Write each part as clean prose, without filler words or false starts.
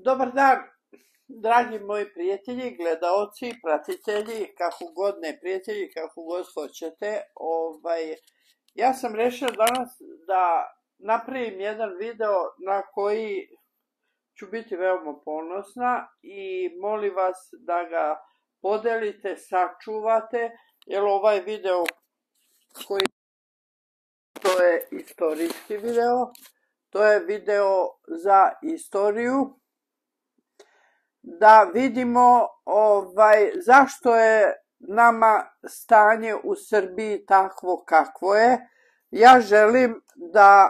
Dobar dan, dragi moji prijatelji, gledaoci, pratitelji, kako god ne prijatelji, kako god hoćete. Ja sam rešila danas da napravim jedan video na koji ću biti veoma ponosna i molim vas da ga podelite, sačuvate, jer ovaj video koji to je istorijski video, to je video za istoriju, da vidimo zašto je nama stanje u Srbiji takvo kakvo je. Ja želim da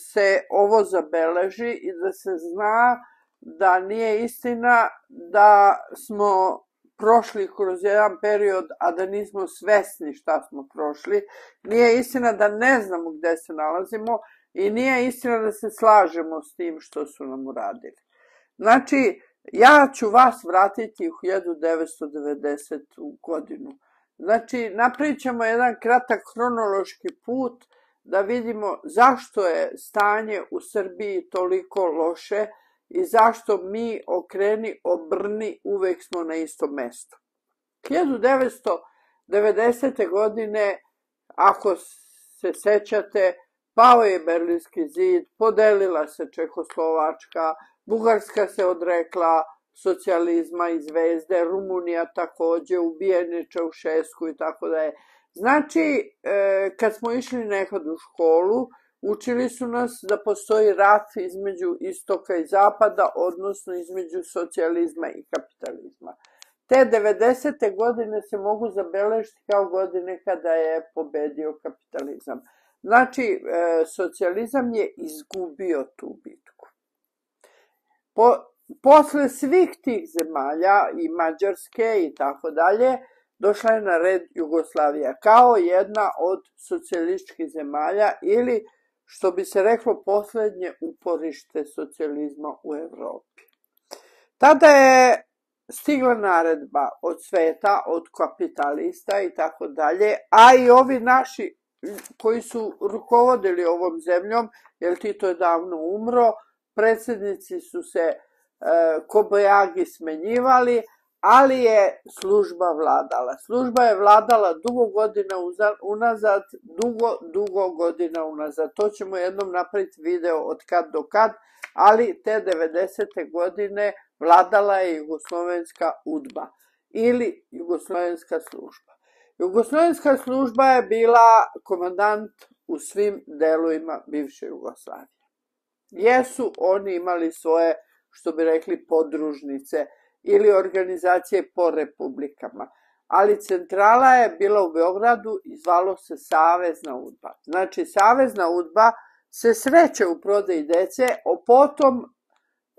se ovo zabeleži i da se zna da nije istina da smo prošli kroz jedan period, a da nismo svesni šta smo prošli. Nije istina da ne znamo gde se nalazimo i nije istina da se slažemo s tim što su nam uradili. Znači, ja ću vas vratiti u 1990. godinu. Znači, napravit ćemo jedan kratak hronološki put da vidimo zašto je stanje u Srbiji toliko loše i zašto mi okreni obrni uvek smo na istom mestu. 1990. godine, ako se sećate, pao je Berlinski zid, podelila se Čehoslovačka, Bugarska se odrekla socijalizma i zvezde, Rumunija takođe, ubijen je Čaušesku i tako da je. Znači, kad smo išli nekad u školu, učili su nas da postoji rat između istoka i zapada, odnosno između socijalizma i kapitalizma. Te 90. godine se mogu zabeležiti kao godine kada je pobedio kapitalizam. Znači, socijalizam je izgubio tu bitku. Posle svih tih zemalja i Mađarske i tako dalje, došla je na red Jugoslavija kao jedna od socijalističkih zemalja ili, što bi se reklo, poslednje uporište socijalizma u Evropi. Tada je stigla naredba od sveta, od kapitalista i tako dalje, a i ovi naši koji su rukovodili ovom zemljom, jer Tito je davno umro, predsjednici su se kobajagi smenjivali, ali je služba vladala. Služba je vladala dugo godina unazad, dugo godina unazad. To ćemo jednom napraviti video od kad do kad, ali te 90. godine vladala je jugoslovenska udba ili jugoslovenska služba. Jugoslovenska služba je bila komandant u svim delovima bivše Jugoslavije. Jesu oni imali svoje, što bi rekli, podružnice ili organizacije po republikama, ali centrala je bila u Beogradu i zvalo se Savezna udba. Znači, Savezna udba se sreće u prodaji dece, a potom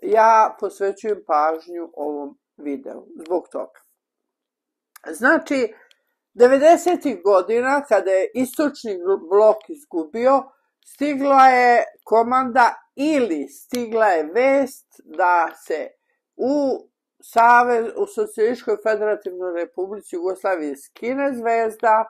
ja posvećujem pažnju ovom videu zbog toga. Znači, 90. godina, kada je istočni blok izgubio, stigla je komanda ili stigla je vest da se u Socijalističkoj federativnoj republici Jugoslavije skine zvezda,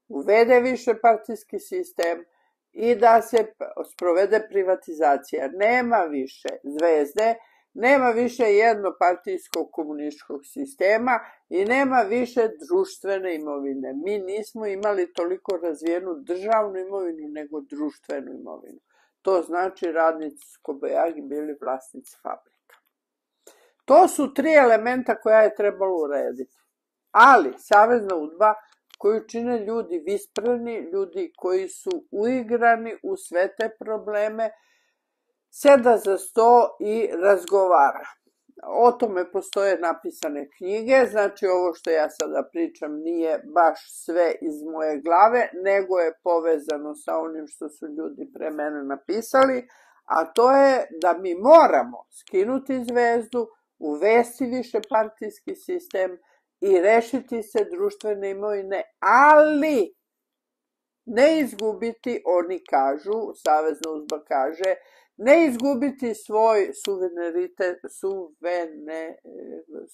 uvede višepartijski sistem i da se sprovede privatizacija. Nema više zvezde, nema više jednopartijskog komunističkog sistema i nema više društvene imovine. Mi nismo imali toliko razvijenu državnu imovinu nego društvenu imovinu. To znači radnici su kobajagi bili vlasnici fabrika. To su tri elementa koja je trebalo urediti. Ali Savezna udba, koju čine ljudi vispreni, ljudi koji su uigrani u sve te probleme, seda za sto i razgovara. O tome postoje napisane knjige, znači ovo što ja sada pričam nije baš sve iz moje glave, nego je povezano sa onim što su ljudi pre mene napisali, a to je da mi moramo skinuti zvezdu, uvesti višepartijski sistem i rešiti se društvene imovine, ali ne izgubiti, oni kažu, Savezna udba kaže, ne izgubiti svoj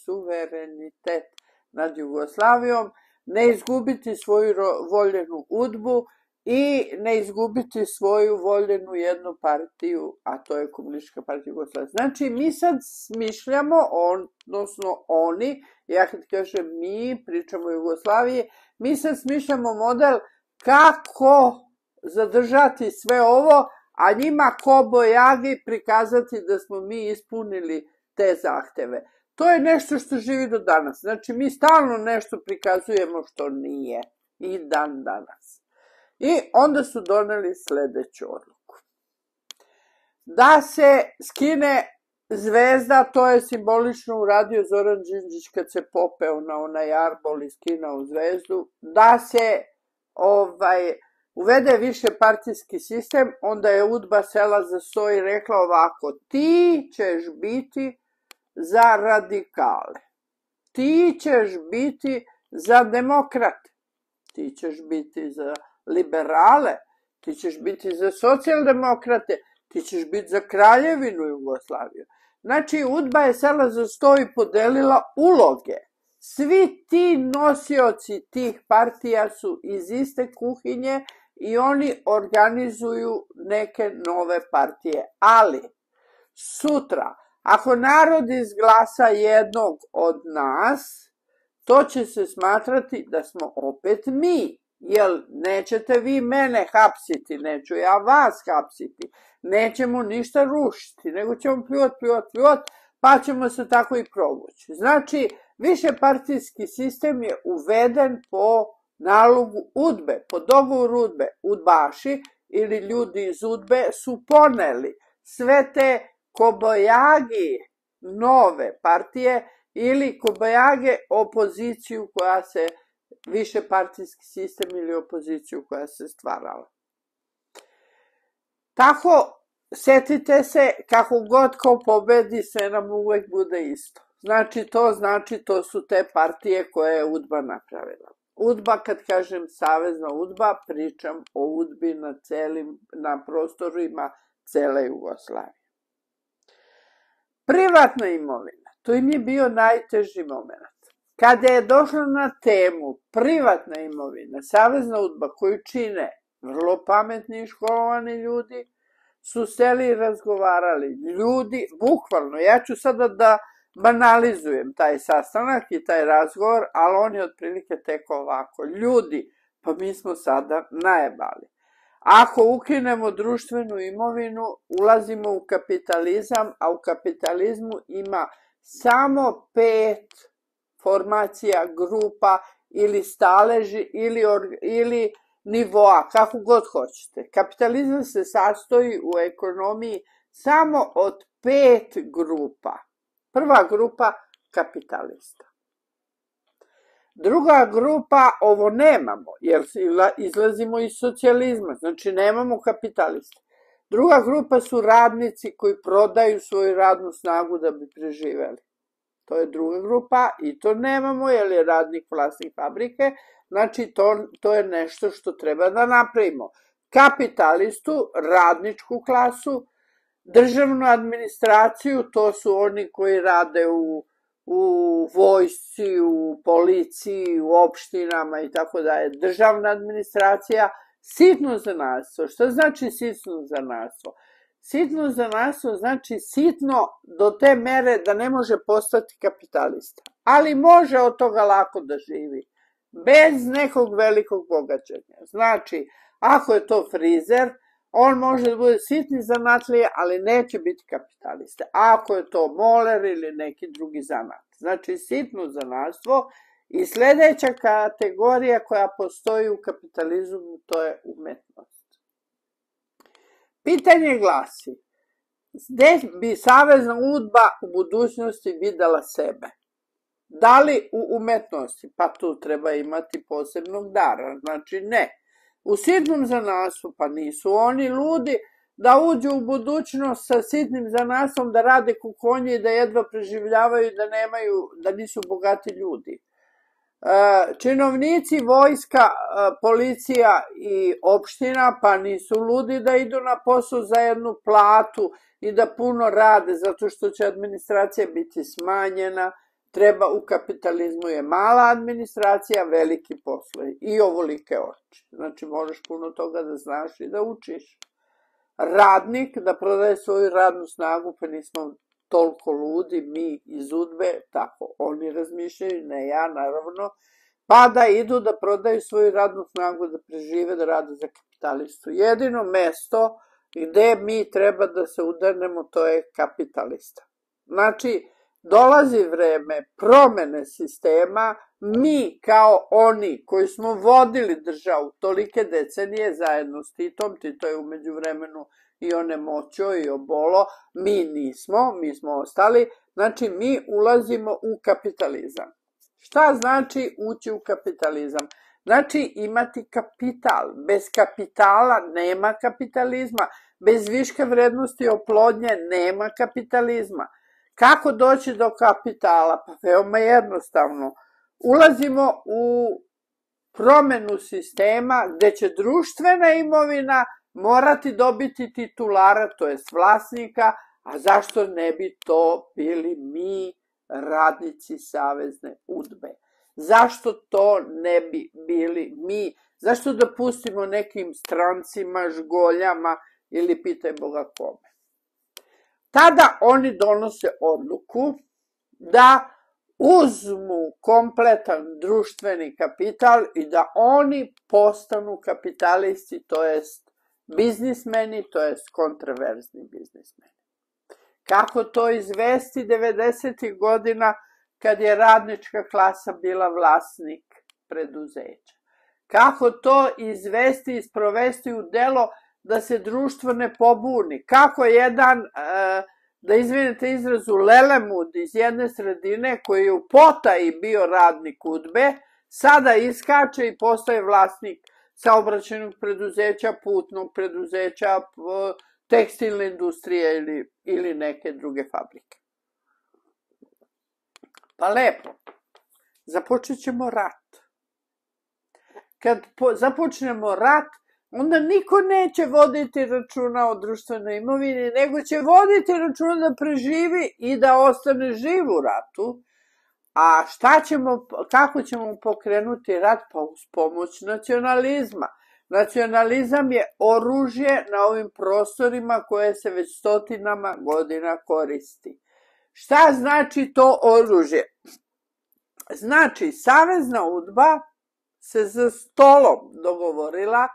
suverenitet nad Jugoslavijom, ne izgubiti svoju voljenu udbu i ne izgubiti svoju voljenu jednu partiju, a to je Komunistička partija Jugoslavije. Znači, mi sad smišljamo, odnosno oni, ja kad kažem mi, pričamo o Jugoslaviji, mi sad smišljamo model kako zadržati sve ovo, a njima kobojagi prikazati da smo mi ispunili te zahteve. To je nešto što živi do danas. Znači, mi stalno nešto prikazujemo što nije i dan danas. I onda su doneli sledeću odluku. Da se skine zvezda, to je simbolično uradio Zoran Đinđić kad se popeo na onaj arbol i skinao zvezdu, da se uvede više partijski sistem, onda je UDBA sela za sto i rekla ovako: ti ćeš biti za radikale, ti ćeš biti za demokrate, ti ćeš biti za liberale, ti ćeš biti za socijaldemokrate, ti ćeš biti za Kraljevinu Jugoslaviju. Znači, UDBA je sela za sto i podelila uloge. Svi ti nosioci tih partija su iz iste kuhinje i oni organizuju neke nove partije. Ali, sutra, ako narod izglasa jednog od nas, to će se smatrati da smo opet mi. Jer nećete vi mene hapsiti, neću ja vas hapsiti, nećemo ništa rušiti, nego ćemo pljuvati, pa ćemo se tako i provući. Znači, višepartijski sistem je uveden po nalogu UDBE, po dogovoru UDBE. UDBaši ili ljudi iz UDBE su poneli sve te kobojagi nove partije ili kobojage opoziciju koja se, višepartijski sistem ili opoziciju koja se stvarala. Tako, setite se, kako god ko pobedi, sve nam uvek bude isto. Znači, to su te partije koje je UDBA napravila. UDBA, kad kažem savezna UDBA, pričam o UDBI na prostorima cele Jugoslavije. Privatna imovina, to im je bio najteži moment. Kada je došlo na temu privatna imovina, savezna UDBA koju čine vrlo pametni i školovani ljudi, su seli i razgovarali. Ljudi, bukvalno, ja ću sada da banalizujem taj sastanak i taj razgovor, ali on je otprilike teko ovako. Ljudi, pa mi smo sada najebali. Ako ukinemo društvenu imovinu, ulazimo u kapitalizam, a u kapitalizmu ima samo 5 formacija, grupa ili staleži ili nivoa, kako god hoćete. Kapitalizam se sastoji u ekonomiji samo od 5 grupa. Prva grupa, kapitalista. Druga grupa, ovo nemamo, jer izlazimo iz socijalizma, znači nemamo kapitalista. Druga grupa su radnici koji prodaju svoju radnu snagu da bi preživeli. To je druga grupa i to nemamo, jer je radnik vlasnik fabrike, znači to je nešto što treba da napravimo. Kapitalistu, radničku klasu, državnu administraciju, to su oni koji rade u vojsci, u policiji, u opštinama i tako dalje. Državna administracija, sitno zanatstvo. Šta znači sitno zanatstvo? Sitno zanatstvo znači sitno do te mere da ne može postati kapitalista. Ali može od toga lako da živi. Bez nekog velikog bogaćenja. Znači, ako je to frizer, on može da bude sitni zanatlija, ali neće biti kapitalista. Ako je to moler ili neki drugi zanat. Znači, sitno zanatstvo. I sledeća kategorija koja postoji u kapitalizmu, to je umetnost. Pitanje glasi, gde bi savezna UDBA u budućnosti videla sebe? Da li u umetnosti? Pa tu treba imati posebnog dara, znači ne. U sitnom zanatstvu, pa nisu oni ludi da uđu u budućnost sa sitnim zanatstvom, da rade kukonje i da jedva preživljavaju, da nisu bogati ljudi. Činovnici, vojska, policija i opština, pa nisu ludi da idu na posao za jednu platu i da puno rade, zato što će administracija biti smanjena, treba u kapitalizmu je mala administracija, veliki poslovi i ovolike oči. Znači, možeš puno toga da znaš i da učiš. Radnik da prodaje svoju radnu snagu, pa nismo toliko ludi, mi iz UDBE, tako oni razmišljaju, ne ja naravno, pa da idu da prodaju svoju radnu snagu, da prežive, da rade za kapitalistu. Jedino mesto gde mi treba da se udarnemo, to je kapitalista. Znači, dolazi vreme promene sistema, mi kao oni koji smo vodili državu tolike decenije zajedno s Titom, Tito je umeđu vremenu i onemoćio i obolo, mi nismo, mi smo ostali, znači mi ulazimo u kapitalizam. Šta znači ući u kapitalizam? Znači imati kapital. Bez kapitala nema kapitalizma. Bez viške vrednosti oplodnje nema kapitalizma. Kako doći do kapitala? Pa veoma jednostavno. Ulazimo u promenu sistema gde će društvena imovina morati dobiti titulara, to jest vlasnika, a zašto ne bi to bili mi, radnici Savezne UDBE? Zašto to ne bi bili mi? Zašto da pustimo nekim strancima, žgoljama ili pitaj Boga kome? Tada oni donose odluku da uzmu kompletan društveni kapital i da oni postanu kapitalisti, to jest biznismeni, to jest kontraverzni biznismeni. Kako to izvesti 90. godina kad je radnička klasa bila vlasnik preduzeća? Kako to izvesti i sprovesti u delo da se društvo ne pobuni? Kako jedan, da izvinete izrazu, lelemud iz jedne sredine koji je u potaji bio radnik UDBE, sada iskače i postaje vlasnik saobraćajnog preduzeća, putnog preduzeća, tekstilne industrije ili neke druge fabrike. Pa lepo, započet ćemo rat. Kad započnemo rat, onda niko neće voditi računa o društvenoj imovini, nego će voditi računa da preživi i da ostane živ u ratu. A kako ćemo pokrenuti rat? Pa uz pomoć nacionalizma. Nacionalizam je oružje na ovim prostorima koje se već stotinama godina koristi. Šta znači to oružje? Znači, Savezna UDBA se za stolom dogovorila,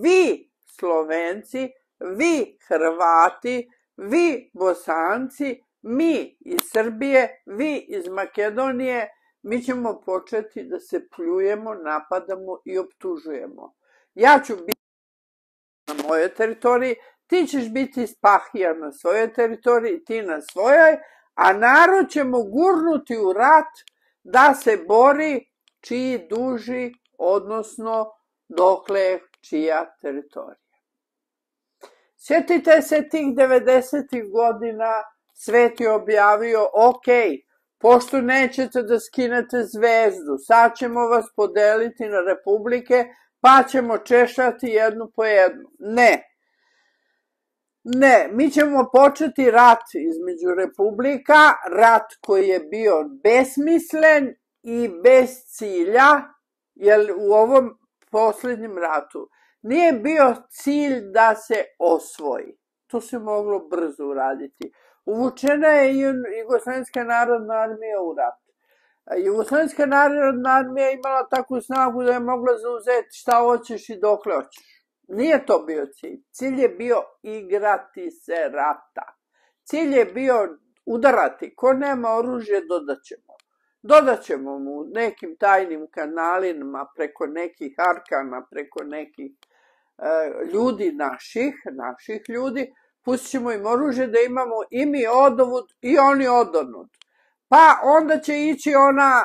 vi Slovenci, vi Hrvati, vi Bosanci, mi iz Srbije, vi iz Makedonije, mi ćemo početi da se pljujemo, napadamo i optužujemo. Ja ću biti na mojoj teritoriji, ti ćeš biti Spahija na svojoj teritoriji, ti na svojoj, a narod ćemo gurnuti u rat da se bori čiji duži, odnosno dokle je čija teritorija. Sjetite se tih 90. godina, svet je objavio, ok, pošto nećete da skinete zvezdu, sad ćemo vas podeliti na republike, pa ćemo češati jednu po jednu. Ne, mi ćemo početi rat između republika, rat koji je bio besmislen i bez cilja, jer u ovom posljednjem ratu nije bio cilj da se osvoji. To se moglo brzo uraditi. Uvučena je i Jugoslovenska narodna armija u rat. Jugoslovenska narodna armija imala takvu snagu da je mogla zauzeti šta hoćeš i dokle hoćeš. Nije to bio cilj. Cilj je bio igrati se rata. Cilj je bio udarati. Ko nema oružje, dodaćemo. Dodaćemo mu nekim tajnim kanalima, preko nekih arkana, preko nekih ljudi naših ljudi, pustit ćemo im oružje da imamo i mi odovud i oni odonud. Pa onda će ići ona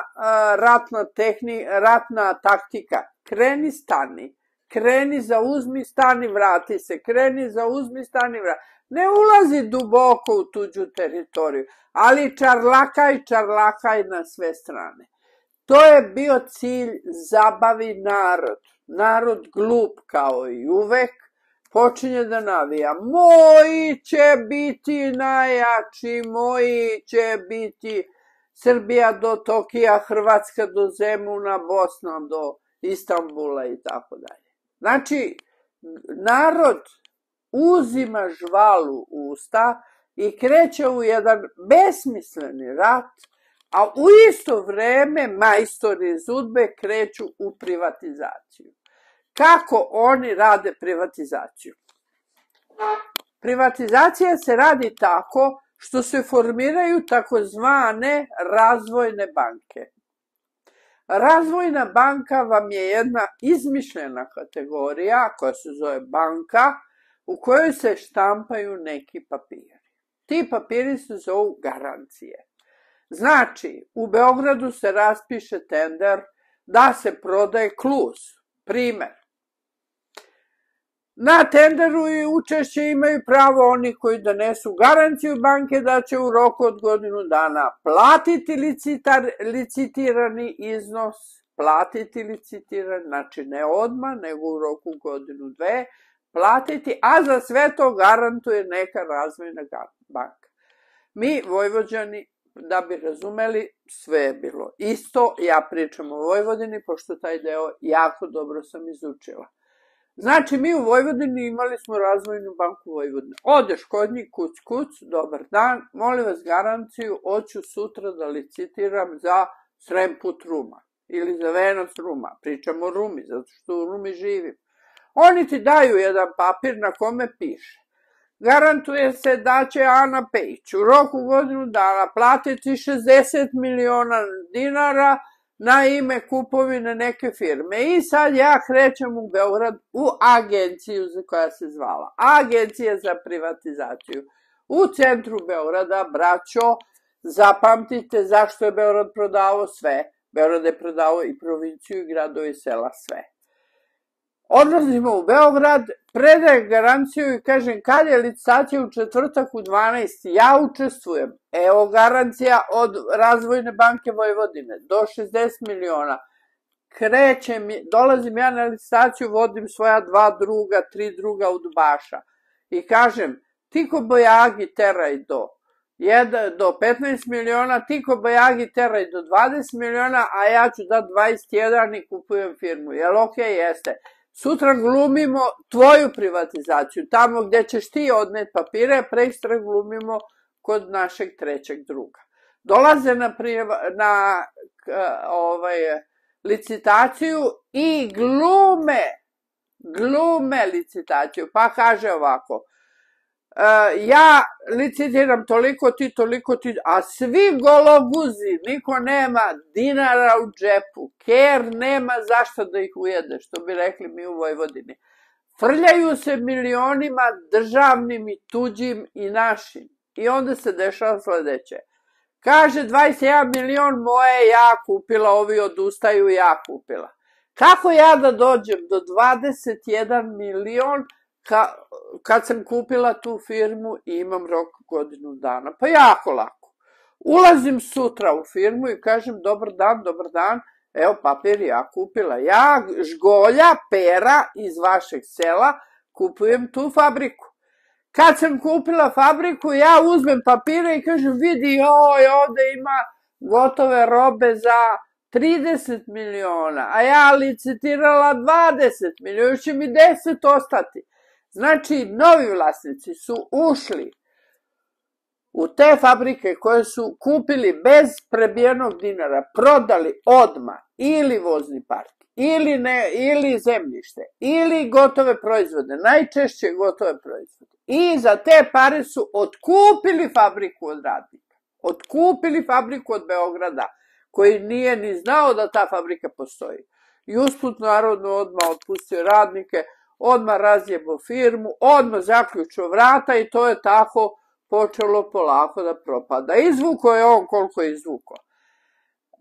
ratna taktika. Kreni, stani. Kreni, zauzmi, stani, vrati se. Kreni, zauzmi, stani, vrati. Ne ulazi duboko u tuđu teritoriju, ali čarlakaj na sve strane. To je bio cilj, zabavi narod. Narod glup kao i uvek, počinje da navija. Moji će biti najjači, moji će biti Srbija do Tokija, Hrvatska do Zemuna, Bosna do Istanbula i tako dalje. Znači, narod uzima žvalu u usta i kreće u jedan besmisleni rat, a u isto vreme majstori iz UDBE kreću u privatizaciju. Kako oni rade privatizaciju? Privatizacija se radi tako što se formiraju takozvane razvojne banke. Razvojna banka vam je jedna izmišljena kategorija koja se zove banka u kojoj se štampaju neki papiri. Ti papiri se zovu garancije. Znači, u Beogradu se raspiše tender da se prodaje kluz. Primer. Na tenderu i učešće imaju pravo oni koji donesu garanciju banke da će u roku od godinu dana platiti licitirani iznos, znači ne odmah, nego u roku godinu dve, platiti, a za sve to garantuje neka razvojna banka. Mi, Vojvođani, da bi razumeli, sve je bilo isto. Ja pričam o Vojvodini, pošto taj deo jako dobro sam izučila. Znači, mi u Vojvodini imali smo razvojnu banku Vojvodine. Odeš kod njih, kuc, dobar dan, molim vas garanciju, hoću sutra da licitiram za Sremput Ruma ili za Venac Ruma. Pričam o Rumi, zato što u Rumi živim. Oni ti daju jedan papir na kome piše: garantuje se da će Ana Pejić u roku godinu dana platiti 60 miliona dinara na ime kupovine neke firme. I sad ja krećem u Beograd u agenciju koja se zvala Agencija za privatizaciju. U centru Beograda, braćo, zapamtite zašto je Beograd prodavao sve. Beograd je prodavao i provinciju, i gradove i sela, sve. Odlazimo u Beograd, predajem garanciju i kažem kad je licitacija u četvrtak u 12, ja učestvujem. Evo garancija od Razvojne banke Vojvodine do 60 miliona. Krećem, dolazim ja na licitaciju, vodim svoja 2 druga, 3 druga udbaša i kažem ti ko Bojagi teraj do 15 miliona, ti ko Bojagi teraj do 20 miliona, a ja ću da 21 i kupujem firmu. Jel okej? Jeste. Sutra glumimo tvoju privatizaciju, tamo gdje ćeš ti odneti papire, prekstra glumimo kod našeg trećeg druga. Dolaze na licitaciju i glume licitaciju, pa kaže ovako: ja licitiram toliko, ti toliko, a svi gologuzi, niko nema dinara u džepu, ker nema zašto da ih ujede, što bi rekli mi u Vojvodini. Frljaju se milionima državnim i tuđim i našim. I onda se dešava sledeće. Kaže 21 milion moje ja kupila, ovi odustaju, ja kupila. Kako ja da dođem do 21 milion kad sam kupila tu firmu i imam rok godinu dana? Pa jako lako. Ulazim sutra u firmu i kažem dobar dan, evo papir ja kupila. Ja, Žgolja, Pera iz vašeg sela, kupujem tu fabriku. Kad sam kupila fabriku, ja uzmem papire i kažem vidi, ovde ima gotove robe za 30 miliona, a ja licitirala 20 miliona, će mi 10 ostati. Znači, novi vlasnici su ušli u te fabrike koje su kupili bez prebijenog dinara, prodali odmah ili vozni park, ili zemljište, ili gotove proizvode, najčešće gotove proizvode. I za te pare su otkupili fabriku od radnika, otkupili fabriku od Beograda, koji nije ni znao da ta fabrika postoji. I usput narodno odmah otpustio radnike, odmah razjebo firmu, odmah zaključio vrata i to je tako počelo polako da propada. Izvuko je on koliko je izvuko.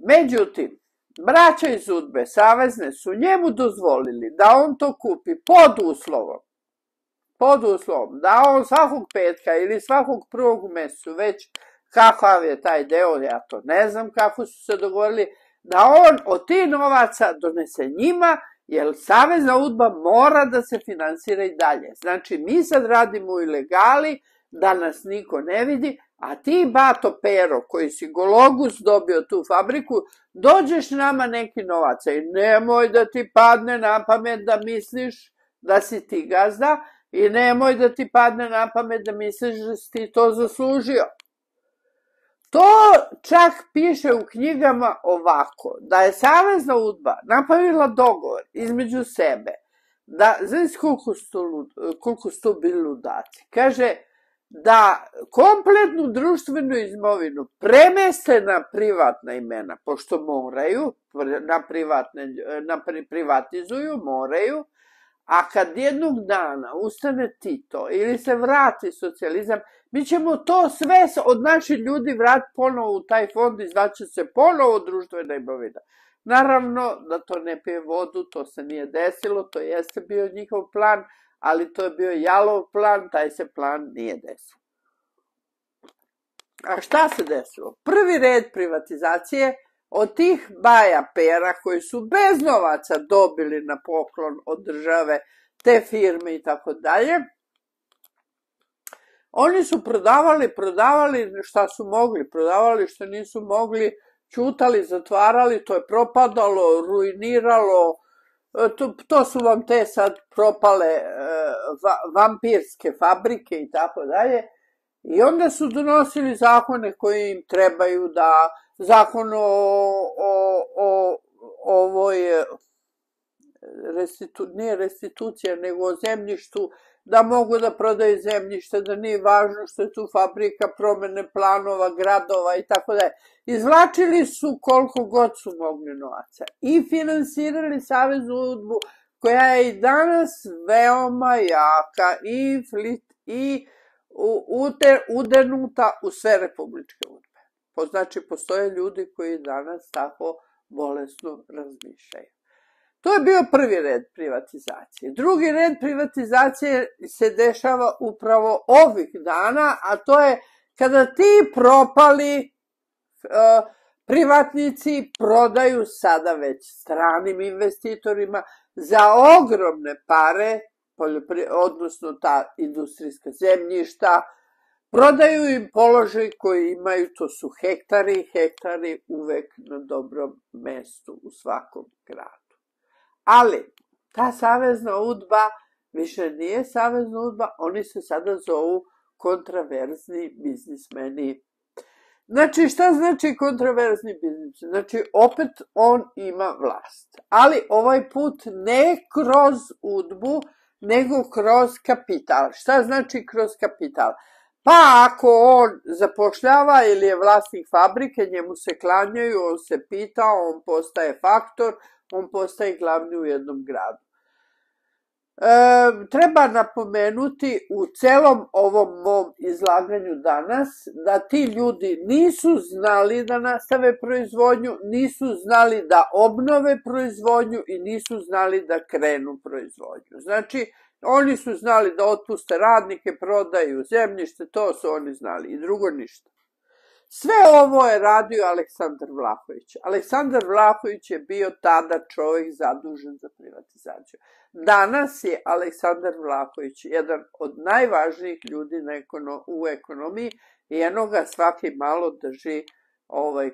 Međutim, braća iz UDBE, savezne, su njemu dozvolili da on to kupi pod uslovom, da on svakog petka ili svakog prvog u mesecu, već kakav je taj deo, ja to ne znam kako su se dogovorili, da on od tih novaca donese njima, jer Savezna UDBA mora da se finansira i dalje. Znači, mi sad radimo u ilegali, danas niko ne vidi, a ti, Bato Pero, koji si Gologus dobio tu fabriku, dođeš nama neki novaca i nemoj da ti padne na pamet da misliš da si ti gazda i nemoj da ti padne na pamet da misliš da si ti to zaslužio. To čak piše u knjigama ovako, da je Savezna UDBA napravila dogovor između sebe, da, znaš koliko su to bili ludaci, kaže da kompletnu društvenu imovinu premeste na privatna imena, pošto moraju, privatizuju, moraju, a kad jednog dana ustane Tito ili se vrati socijalizam, mi ćemo to sve od naših ljudi vratiti ponovo u taj fond i znači se ponovo društvena imovina. Naravno da to ne pije vodu, to se nije desilo, to jeste bio njihov plan, ali to je bio jalov plan, taj se plan nije desio. A šta se desilo? Prvi red privatizacije od tih Baja Pera koji su bez novaca dobili na poklon od države te firme i tako dalje, oni su prodavali šta su mogli, prodavali što nisu mogli, ćutali, zatvarali, to je propadalo, ruiniralo, to su vam te sad propale vampirske fabrike i tako dalje. I onda su donosili zakone koji im trebaju, da zakon o ovoj, nije restitucija, nego o zemljištu, da mogu da prodaju zemljište, da nije važno što je tu fabrika, promene planova, gradova i tako dalje. Izvlačili su koliko god su mogli novaca i finansirali Saveznu UDBU, koja je i danas veoma jaka i udenuta u sve republičke UDBE. Znači, postoje ljudi koji danas tako bolesno razmišljaju. To je bio prvi red privatizacije. Drugi red privatizacije se dešava upravo ovih dana, a to je kada ti propali privatnici prodaju sada već stranim investitorima za ogromne pare, odnosno ta industrijska zemljišta, prodaju im položaj koji imaju, to su hektari uvek na dobrom mestu u svakom gradu. Ali, ta Savezna UDBA više nije Savezna UDBA, oni se sada zovu kontraverzni biznismeni. Znači, šta znači kontraverzni biznismeni? Znači, opet on ima vlast. Ali ovaj put ne kroz UDBU, nego kroz kapital. Šta znači kroz kapital? Pa ako on zapošljava ili je vlasnik fabrike, njemu se klanjaju, on se pita, on postaje faktor, on postaje glavni u jednom gradu. Treba napomenuti u celom ovom mom izlaganju danas da ti ljudi nisu znali da nastave proizvodnju, nisu znali da obnove proizvodnju i nisu znali da krenu proizvodnju. Znači, oni su znali da otpuste radnike, prodaju zemljište, to su oni znali i drugo ništa. Sve ovo je radio Aleksandar Vlahović. Aleksandar Vlahović je bio tada čovjek zadužen za privatizaciju. Danas je Aleksandar Vlahović jedan od najvažnijih ljudi u ekonomiji i eno ga svaki malo drži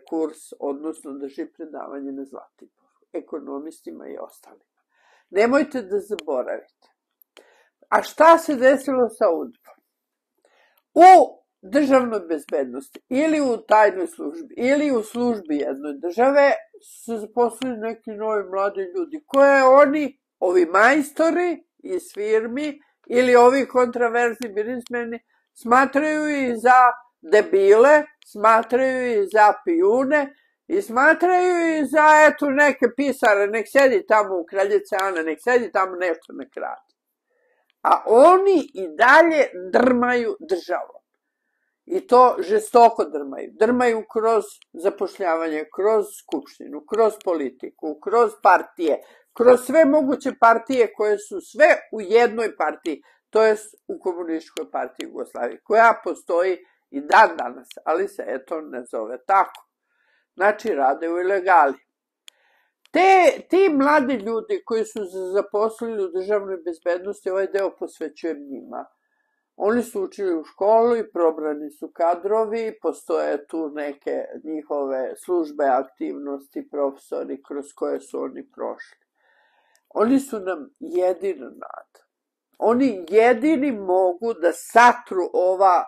kurs, odnosno drži predavanje na Zlatiboru, ekonomistima i ostalima. Nemojte da zaboravite. A šta se desilo sa UDBA-om? U državnoj bezbednosti ili u tajnoj službi ili u službi jedne države su se zaposlili neki novi mladi ljudi koje oni, ovi majstori iz firmi ili ovi kontraverzni biznismeni smatraju i za debile, smatraju i za pijune i smatraju i za eto neke pisare, nek sedi tamo u Kraljice Ane, nek sedi tamo nešto nek radi. A oni i dalje drmaju državom. I to žestoko drmaju. Drmaju kroz zapošljavanje, kroz skupštinu, kroz politiku, kroz partije, kroz sve moguće partije koje su sve u jednoj partiji, to jest u Komunističkoj partiji Jugoslavije, koja postoji i dan danas, ali se eto ne zove tako. Znači, rade u ilegali. Ti mladi ljudi koji su se zaposlili u državnoj bezbednosti, ovaj deo posvećujem njima. Oni su učili u školu i probrani su kadrovi, postoje tu neke njihove službe, aktivnosti, profesori kroz koje su oni prošli. Oni su nam jedina nada. Oni jedini mogu da satru ova,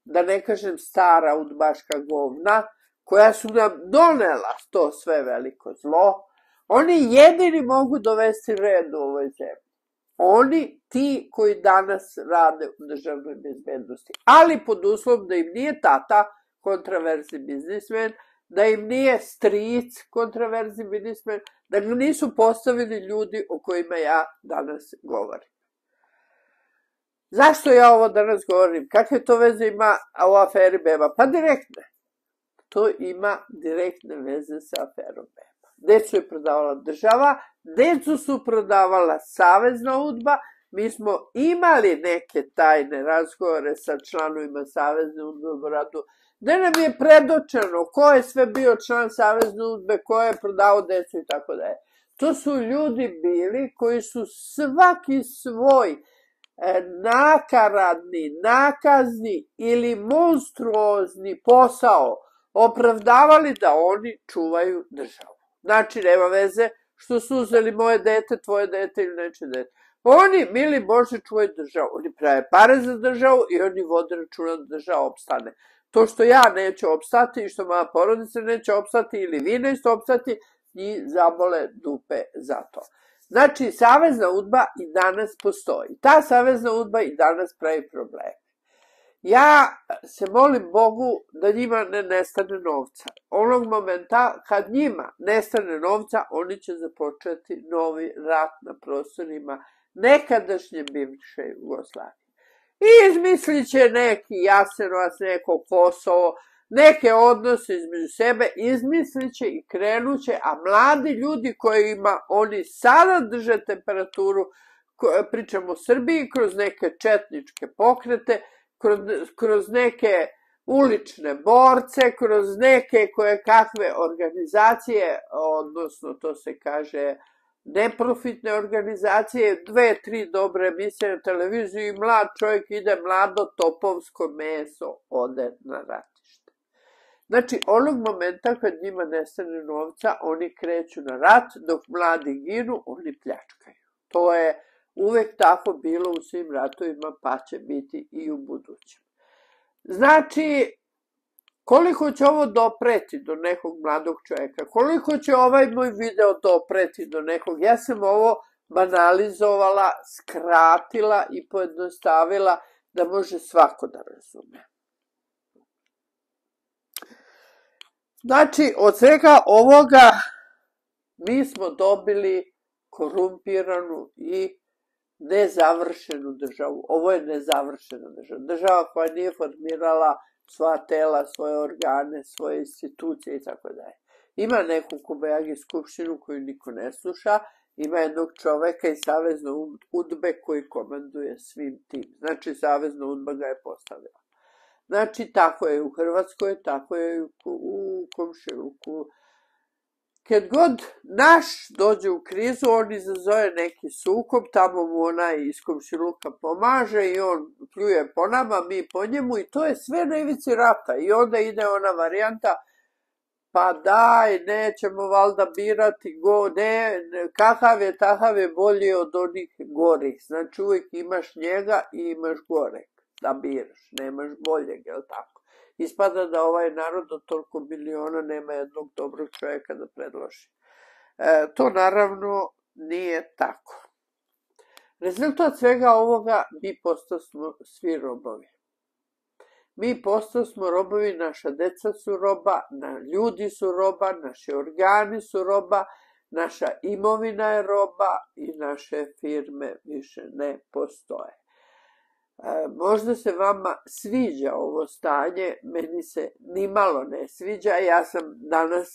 da ne kažem stara udbaška govna, koja su nam donela to sve veliko zlo. Oni jedini mogu dovesti red u ovoj zemlji. Oni, ti koji danas rade u državnoj bezbednosti. Ali pod uslovom da im nije tata kontraverzni biznismen, da im nije stric kontraverzni biznismen, da ga nisu postavili ljudi o kojima ja danas govorim. Zašto ja ovo danas govorim? Kakve to veze ima u aferi Beba? Pa direktne. To ima direktne veze sa aferom Beba. Decu je prodavala država, decu su prodavala Savezna udba. Mi smo imali neke tajne razgovore sa članovima Savezne udbe u Beogradu, gde nam je predočeno ko je sve bio član Savezne udbe, ko je prodao decu i tako dalje. To su ljudi bili koji su svaki svoj nakaradni, nakazni ili monstruozni posao opravdavali da oni čuvaju državu. Znači, nema veze što su uzeli moje dete, tvoje dete ili neče dete. Oni, mili Bože, čuvaju državu. Oni prave pare za državu i oni vode računa da država opstane. To što ja neću opstati i što moja porodica neće opstati ili vi nećete opstati, njih zabole dupe za to. Znači, Savezna udba i danas postoji. Ta Savezna udba i danas pravi probleme. Ja se molim Bogu da njima ne nestane novca. Onog momenta kad njima nestane novca, oni će započeti novi rat na prostorima nekadašnje bivše Jugoslavije. I izmislit će neki Jasenovac, neko Kosovo, neke odnose između sebe, izmislit će i krenut će, a mladi ljudi kojima oni sada drže temperaturu, pričamo o Srbiji, kroz neke četničke pokrete, kroz neke ulične borce, kroz neke koje kakve organizacije, odnosno to se kaže neprofitne organizacije, 2-3 dobre emisije na televiziji i mlad čovjek ide, mlado topovsko meso ode na ratište. Znači, onog momenta kad njima nestane novca, oni kreću na rat, dok mladi ginu, oni pljačkaju. To je uvek tako bilo u svim ratovima, pa će biti i u budućem. Znači, koliko će ovo dopreti do nekog mladog čovjeka? Koliko će ovaj moj video dopreti do nekog? Ja sam ovo banalizovala, skratila i pojednostavila da može svako da razume. Znači, od svega ovoga mi smo dobili korumpiranu i nezavršenu državu. Ovo je nezavršena država. Država koja nije formirala svoja tela, svoje organe, svoje institucije i tako dalje. Ima neku Kobajagi skupštinu koju niko ne sluša, ima jednog čoveka iz Savezne udbe koji komanduje svim tim. Znači, Savezna udba ga je postavila. Znači, tako je u Hrvatskoj, tako je u komšiluku. Kad god naš dođe u krizu, on izazove neki sukob, tamo mu onaj iz komšiluka pomaže i on pljuje po nama, mi po njemu i to je sve na ivici rata. I onda ide ona varijanta, pa daj, nećemo valjda birati, kakav je, takav je bolji od onih gorih. Znači uvijek imaš njega i imaš goreg da biraš, nemaš boljeg, je li tako? Ispada da ovaj narod od toliko miliona nema jednog dobrog čovjeka da predloži. To naravno nije tako. Rezultat svega ovoga, mi postosmo svi robovi. Mi postosmo robovi, naša deca su roba, ljudi su roba, naši organi su roba, naša imovina je roba i naše firme više ne postoje. Možda se vama sviđa ovo stanje, meni se nimalo ne sviđa. Ja sam danas,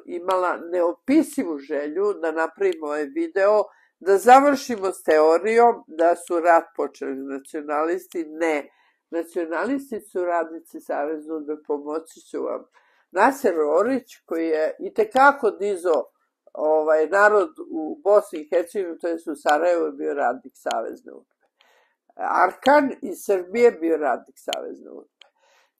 imala neopisivu želju da napravimo ovaj video, da završimo s teorijom da su rat počeli nacionalisti. Ne, nacionalisti su radnici Savezne udbe, pomoći ću vam. Naser Orić, koji je itekako dizao narod u Bosni i Hercegovini, to je u Sarajevu, bio radnik Savezne udbe. Arkan iz Srbije bio radnik Savezne UDBE.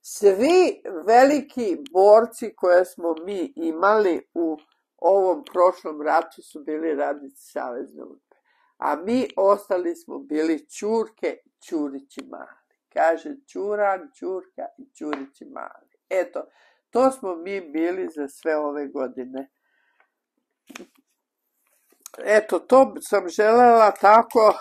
Svi veliki borci koje smo mi imali u ovom prošlom ratu su bili radnici Savezne UDBE. A mi ostali smo bili Ćurke, Ćurići mali. Kaže Ćuran, Ćurka i Ćurići mali. Eto, to smo mi bili za sve ove godine. Eto, to sam želela tako,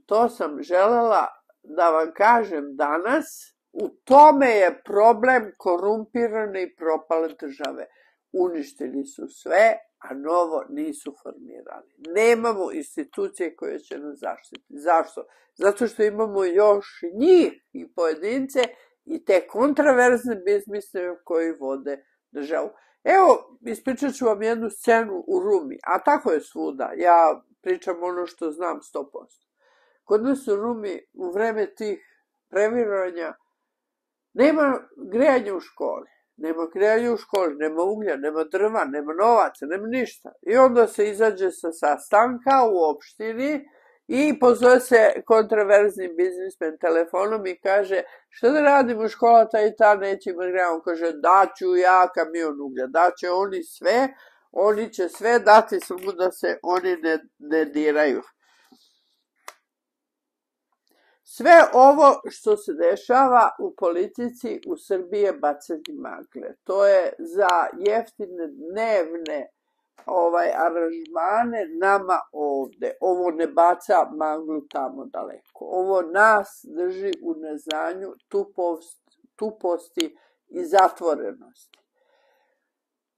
to sam želela da vam kažem danas. U tome je problem korumpirane i propale države. Uništili su sve, a novo nisu formirali. Nemamo institucije koje će nas zaštiti. Zašto? Zato što imamo još njih i pojedince i te kontraverzne biznisme koji vode državu. Evo, ispričat ću vam jednu scenu u Rumi, a tako je svuda. Ja pričam ono što znam 100%. Kod nas u Rumi u vreme tih previranja nema grejanja u školi. Nema grejanja u školi, nema uglja, nema drva, nema novaca, nema ništa. I onda se izađe sa sastanka u opštini i pozove se kontraverzni biznismen telefonom i kaže šta da radimo, škola ta i ta neće imati greja. On kaže daću ja kamion uglja, daće oni sve, oni će sve dati samo da se oni ne diraju. Sve ovo što se dešava u politici u Srbiji je bacanje magle. To je za jeftine dnevne aranžmane nama ovde. Ovo ne baca maglu tamo daleko. Ovo nas drži u neznanju, tuposti i zatvorenosti.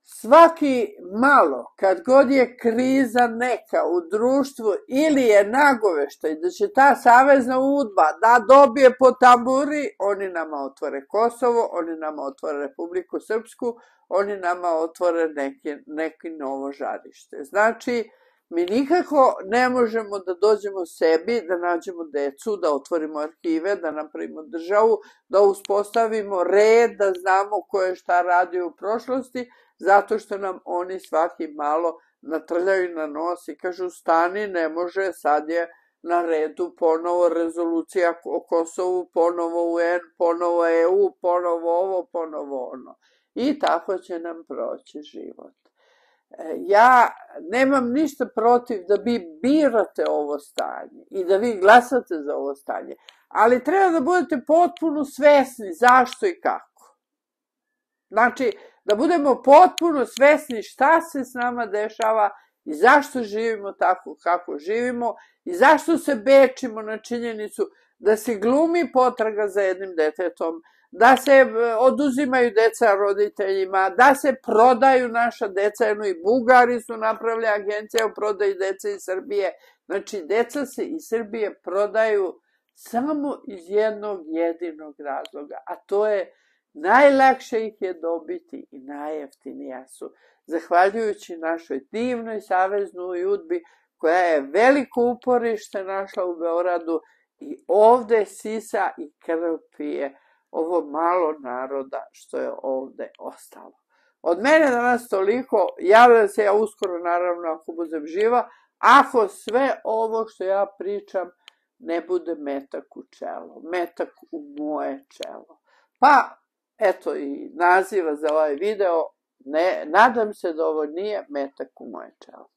Svaki malo, kad god je kriza neka u društvu ili je nagoveštaj da će ta Savezna UDBA da dobije po tamburi, oni nama otvore Kosovo, oni nama otvore Republiku Srpsku, oni nama otvore neki novo žarište. Znači, mi nikako ne možemo da dođemo sebi, da nađemo decu, da otvorimo arhive, da napravimo državu, da uspostavimo red, da znamo ko je šta radio u prošlosti, zato što nam oni svaki malo natrljaju na nos i kažu stani, ne može, sad je na redu ponovo rezolucija o Kosovu, ponovo UN, ponovo EU, ponovo ovo, ponovo ono. I tako će nam proći život. Ja nemam ništa protiv da vi birate ovo stanje i da vi glasate za ovo stanje, ali treba da budete potpuno svesni zašto i kako. Znači, da budemo potpuno svesni šta se s nama dešava i zašto živimo tako kako živimo i zašto se bečimo na činjenicu da se glumi potraga za jednim detetom, da se oduzimaju deca roditeljima, da se prodaju naša deca, jedno i Bugari su napravili agencije o prodaji dece iz Srbije. Znači, deca se iz Srbije prodaju samo iz jednog jedinog razloga, a to je najlakše ih je dobiti i najjeftinija su. Zahvaljujući našoj divnoj Saveznoj UDBI, koja je veliko uporište našla u Beogradu i ovde sisa i krv pije ovo malo naroda što je ovde ostalo. Od mene danas toliko, javljam se ja uskoro naravno ako budem živa, ako sve ovo što ja pričam ne bude metak u čelo, metak u moje čelo. Pa, eto i naziva za ovaj video, nadam se da ovo nije metak u moje čelo.